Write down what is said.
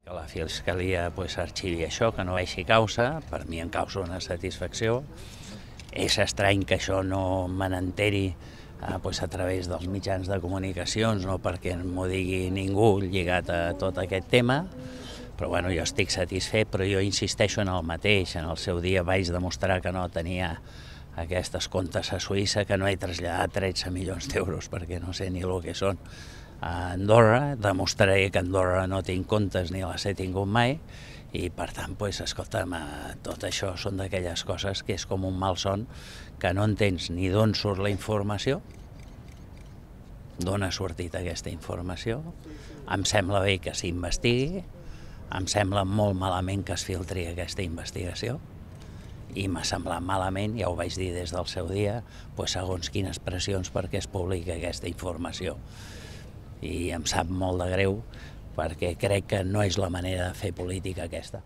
Que la Fiscalia arxivi això, que no veixi causa, per mi em causa una satisfacció. És estrany que això no me n'enteri a través dels mitjans de comunicacions, no perquè m'ho digui ningú lligat a tot aquest tema, però bueno, jo estic satisfet, però jo insisteixo en el mateix. En el seu dia vaig demostrar que no tenia aquests comptes a Suïssa, que no he traslladat 13 milions d'euros perquè no sé ni el que són a Andorra. Demostraré que a Andorra no tinc comptes ni les he tingut mai i per tant, escolta'm, tot això són d'aquelles coses que és com un malson, que no entens ni d'on surt la informació, d'on ha sortit aquesta informació. Em sembla bé que s'investigui, em sembla molt malament que es filtri aquesta investigació i m'ha semblat malament, ja ho vaig dir des del seu dia, segons quines pressions perquè es publiqui aquesta informació. I em sap molt de greu perquè crec que no és la manera de fer política aquesta.